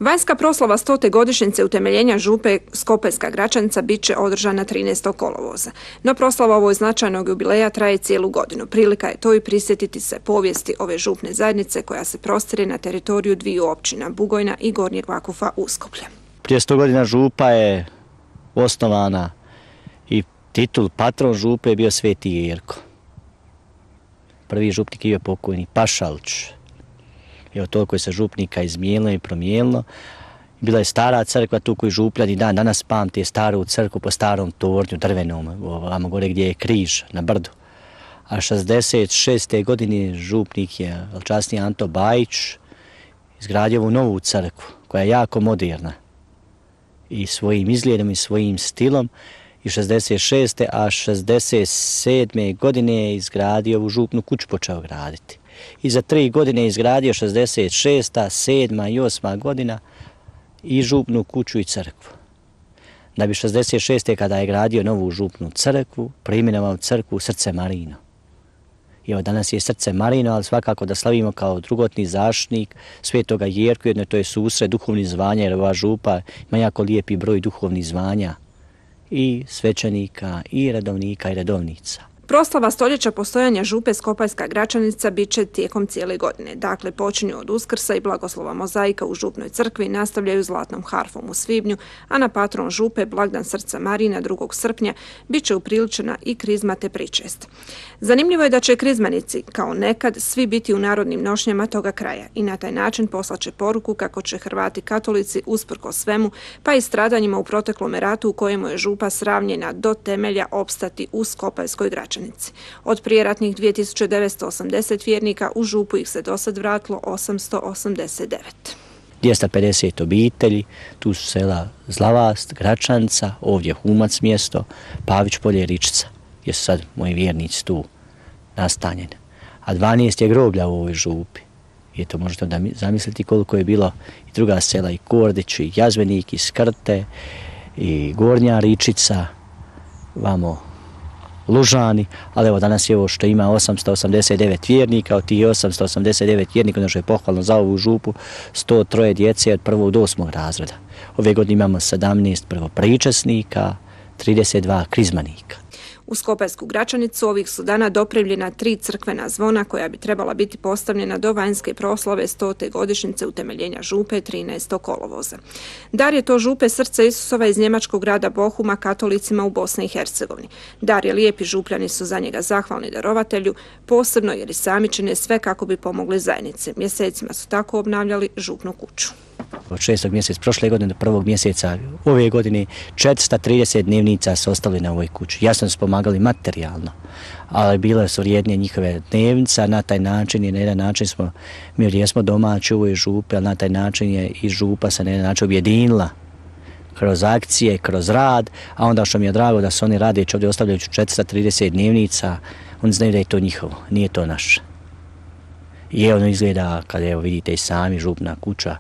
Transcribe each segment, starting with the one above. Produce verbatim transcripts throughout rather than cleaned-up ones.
Vanjska proslava stote godišnjice utemeljenja župe Skopajska Gračanica bit će održana trinaestog kolovoza. No proslava ovog značajnog jubileja traje cijelu godinu. Prilika je to i prisjetiti se povijesti ove župne zajednice koja se prostire na teritoriju dviju općina, Bugojna i Gornjeg Vakufa Uskoplja. Prije sto godina župa je osnovana i titul patron župe je bio Sveti Jerko. Prvi župnik je bio pokojni Pašalić. Evo toliko je se župnika izmijenilo i promijenilo. Bila je stara crkva tu koju župljani dan danas pamte staru crkvu po starom tornju drvenom, ovamo gore gdje je križ na brdu. A šezdeset šeste godine župnik je velčasni Anto Bajić izgradio ovu novu crkvu koja je jako moderna i svojim izgledom i svojim stilom. I šezdeset šeste a šezdeset sedme godine je izgradio ovu župnu kuću, počeo graditi. I za tri godine je izgradio šezdeset šesta, sedma i osma godina i župnu kuću i crkvu. Da bi šezdeset šeste kada je gradio novu župnu crkvu, preimenovao crkvu Srce Marino. I evo danas je Srce Marino, ali svakako da slavimo kao drugotni zaštitnik Svetoga Jerku, jedno to je susret duhovnih zvanja, jer ova župa ima jako lijepi broj duhovnih zvanja i svećenika, i redovnika, i redovnica. Proslava stoljeća postojanja župe Skopajska Gračanica bit će tijekom cijele godine. Dakle, počinju od Uskrsa i blagoslova mozaika u župnoj crkvi, nastavljaju zlatnom harfom u svibnju, a na patron župe blagdan Srca Marina drugog srpnja bit će upriličena i krizma te pričest. Zanimljivo je da će krizmanici, kao nekad, svi biti u narodnim nošnjama toga kraja i na taj način poslaće poruku kako će Hrvati katolici usprko svemu, pa i stradanjima u proteklom ratu u kojemu je župa sravnjena do temelja opstati u Skopajskoj Gračanici. Od prijeratnih dvije tisuće devetsto osamdeset vjernika u župu ih se dosad vratilo osamsto osamdeset devet. dvjesto pedeset obitelji, tu su sela Zlavast, Gračanca, ovdje Humac mjesto, Pavić polje i Ričica, gdje su sad moji vjernici tu nastanjeni. A dvanaest je groblja u ovoj župi. I to možete da zamisliti koliko je bilo i druga sela, i Kordić, i Jazvenik, i Skrte, i Gornja Ričica, vamo Lužani, ali evo danas je ovo što ima osamsto osamdeset devet vjernika, od tih osamsto osamdeset devet vjernika, ono što je pohvalno za ovu župu, sto tri djece od prvog do osmog razreda. Ove godine imamo sedamnaest prvopričesnika, trideset dva krizmanika. U Skopajsku Gračanicu ovih su dana dopremljena tri crkvena zvona koja bi trebala biti postavljena do vanjske proslave stote godišnjice utemeljenja župe trinaestog kolovoza. Dar je to župe Srca Isusova iz njemačkog grada Bohuma katolicima u Bosni i Hercegovini. Dar je lijep i župljani su za njega zahvalni darovatelju, posebno jer i sami čine sve kako bi pomogli zajednici. Mjesecima su tako obnavljali župnu kuću. Od šestog mjeseca prošle godine do prvog mjeseca ove godine četiristo trideset dnevnica su ostali na ovoj kući. Jasno su pomagali materijalno, ali bile su vrijednije njihove dnevnica. Na taj način i na jedan način smo, mi ovdje smo domaći u ovoj župi, ali na taj način je i župa se na jedan način objedinila kroz akcije, kroz rad, a onda što mi je drago da su oni radeći ovdje ostavljajući četiristo trideset dnevnica, oni znaju da je to njihovo, nije to naše. I ono izgleda, kada evo vidite i sami, župna kuća,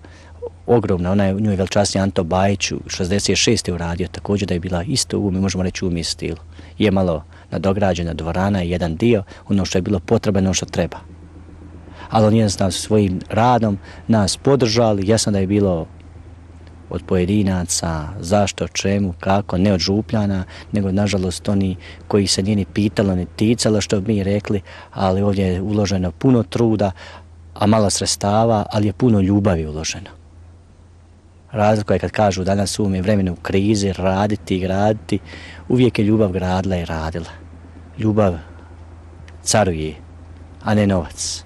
ogromna, ona je u njoj velčasni Anto Bajić u šezdeset šeste uradio također da je bila isto u, mi možemo reći u mi stilu. Je malo nadograđena dvorana i jedan dio, ono što je bilo potrebno, ono što treba. Ali on jednostavno svojim radom nas podržali, jasno da je bilo od pojedinaca, zašto, čemu, kako, ne od župljana, nego nažalost oni koji se nije ni pitalo, ni ticalo što bi mi rekli, ali ovdje je uloženo puno truda, a malo sredstava, ali je puno ljubavi uloženo. Razlika je kad kažu danas u ovome vremenu krize, raditi i graditi, uvijek je ljubav gradila i radila. Ljubav caruje, a ne novac.